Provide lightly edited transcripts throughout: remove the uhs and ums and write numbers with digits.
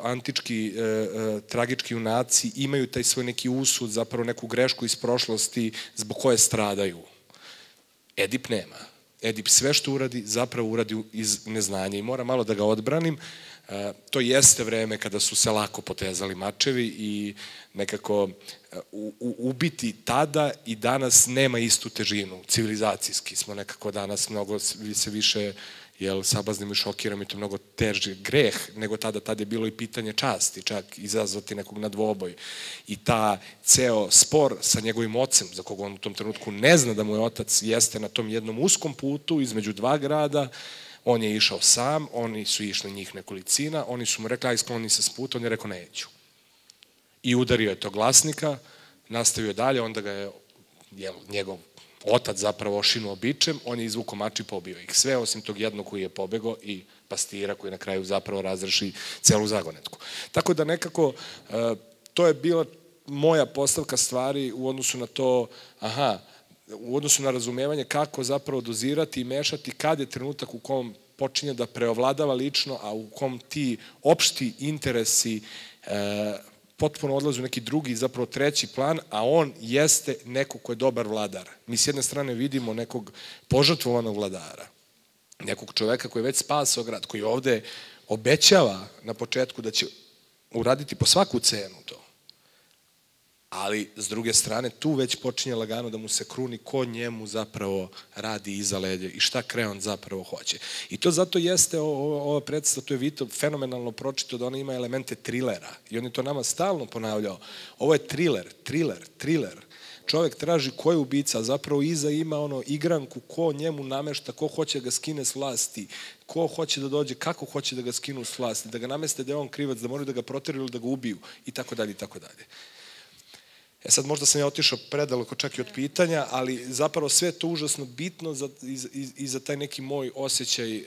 antički tragički junaci imaju taj svoj neki usud, zapravo neku grešku iz prošlosti zbog koje stradaju. Edip nema. Edip sve što uradi, zapravo uradi iz neznanja i mora malo da ga odbranim. To jeste vreme kada su se lako potezali mačevi i nekako ubiti tada i danas nema istu težinu. Civilizacijski smo nekako danas mnogo se više sabaznimo i šokiramo i to mnogo teži greh nego tada. Tada je bilo i pitanje časti, čak izazvati nekog na dvoboj. I ta ceo spor sa njegovim ocem, za koga on u tom trenutku ne zna da mu je otac, jeste na tom jednom uskom putu između dva grada. On je išao sam, oni su išli njih nekolicina, oni su mu rekli, aj skloni se s puta, on je rekao neću. I udario je tog glasnika, nastavio dalje, onda ga je njegov otac zapravo ošinuo bičem, on je izvukao mač i pobio ih. Sve osim tog jednog koji je pobegao i pastira koji na kraju zapravo razreši celu zagonetku. Tako da nekako to je bila moja postavka stvari u odnosu na to, u odnosu na razumevanje kako zapravo dozirati i mešati kad je trenutak u kom počinje da preovladava lično, a u kom ti opšti interesi potpuno odlaze u neki drugi, zapravo treći plan, a on jeste neko ko je dobar vladar. Mi s jedne strane vidimo nekog požrtvovanog vladara, nekog čoveka koji je već spasao grad, koji ovde obećava na početku da će uraditi po svaku cenu to. Ali, s druge strane, tu već počinje lagano da mu se kruni ko njemu zapravo radi iza leđa i šta Kreon zapravo hoće. I to zato jeste ova predstava, to je Vito fenomenalno pročito da ona ima elemente trilera. I on je to nama stalno ponavljao. Ovo je triler. Čovek traži ko je ubica, a zapravo iza ima igranku ko njemu namešta, ko hoće da ga skine s vlasti, ko hoće da dođe, kako hoće da ga skinu s vlasti, da ga nameste da je on krivac, da moraju da ga proteraju ili da ga ubiju i tako dalje i tako dalje. Sad možda sam ja otišao predaleko čak i od pitanja, ali zapravo sve je to užasno bitno i za taj neki moj osjećaj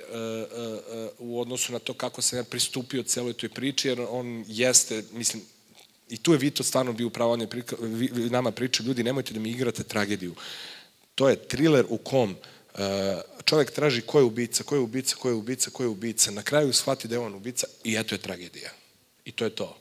u odnosu na to kako sam ja pristupio celoj toj priči, jer on jeste, mislim, i tu je Vito stvarno bio upravo, on je nama pričao, ljudi, nemojte da mi igrate tragediju. To je triler u kom čovek traži ko je ubica, na kraju shvati da je on ubica i eto je tragedija. I to je to.